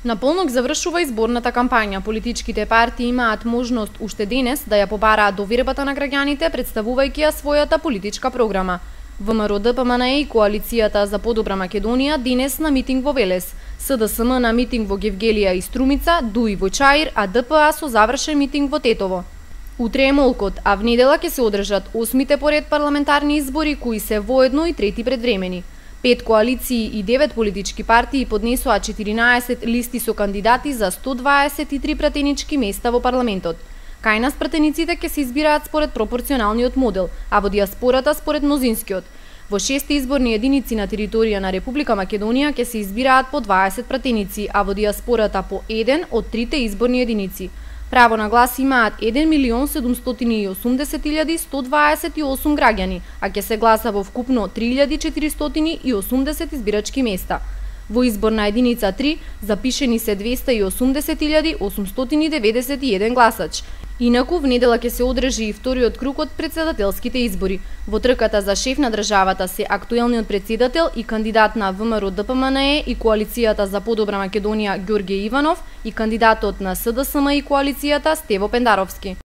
На полнок завршува изборната кампања. Политичките партии имаат можност уште денес да ја побараат довербата на граѓаните, представувајќи ја својата политичка програма. ВМРО-ДПМНЕ и Коалицијата за подобра Македонија денес на митинг во Велес, СДСМ на митинг во Гевгелија и Струмица, ДУИ во Чаир, а ДПА со завршен митинг во Тетово. Утре е молкот, а внедела ќе се одржат 8-те поред парламентарни избори, кои се воедно и трети предвремени. 5 коалиции и 9 политички партии поднесоа 14 листи со кандидати за 123 пратенички места во парламентот. Кај нас пратениците ќе се избираат според пропорционалниот модел, а во диаспората според мнозинскиот. Во 6 изборни единици на територија на Република Македонија ќе се избираат по 20 пратеници, а во диаспората по 1 од 3 изборни единици. Право на глас имаат 1.780.128 граѓани, а ќе се гласа во вкупно 3.480 избирачки места. Во изборна единица 3 запишени се 280.891 гласач. Инаку внедела ќе се одржи и вториот круг од претседателските избори. Во трката за шеф на државата се актуелниот претседател и кандидат на ВМРО-ДПМНЕ и Коалицијата за подобра Македонија Ѓорѓе Иванов и кандидатот на СДСМ и Коалицијата Стево Пендаровски.